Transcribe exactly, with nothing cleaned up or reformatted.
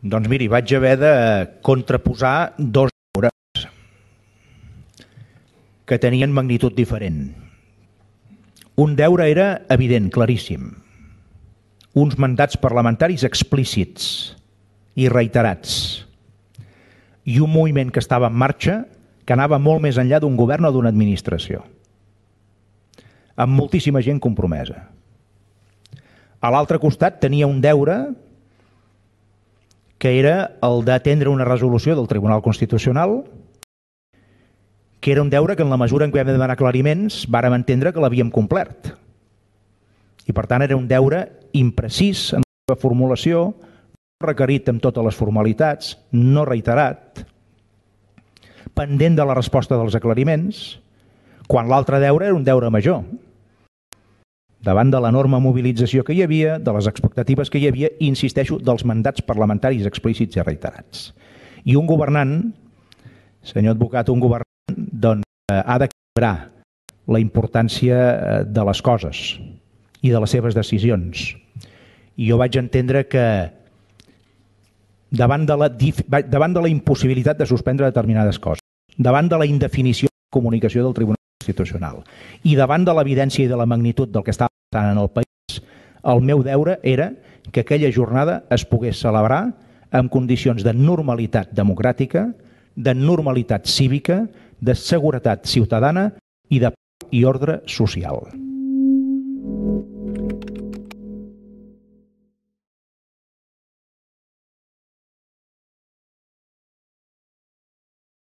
Doncs miri, vaig haver de contraposar dos deures que tenien magnitud diferent. Un deure era evident, claríssim. Uns mandats parlamentaris explícits i reiterats. I un moviment que estava en marxa que anava molt més enllà d'un govern o d'una administració. Amb moltíssima gent compromesa. A l'altre costat tenia un deure que era el d'atendre una resolució del Tribunal Constitucional, que era un deure que en la mesura en què vam demanar aclariments vàrem entendre que l'havíem complert. I per tant era un deure imprecís en la seva formulació, no requerit amb totes les formalitats, no reiterat, pendent de la resposta dels aclariments, quan l'altre deure era un deure major. Davant de l'enorme mobilització que hi havia, de les expectatives que hi havia, i insisteixo, dels mandats parlamentaris explícits i reiterats. I un governant, senyor advocat, un governant, doncs, ha d'equilibrar la importància de les coses i de les seves decisions. I jo vaig entendre que davant de la, davant de la impossibilitat de suspendre determinades coses, davant de la indefinició de la comunicació del Tribunal Constitucional i davant de l'evidència i de la magnitud del que estava passant en el país, el meu deure era que aquella jornada es pogués celebrar en condicions de normalitat democràtica, de normalitat cívica, de seguretat ciutadana i de pau i ordre social.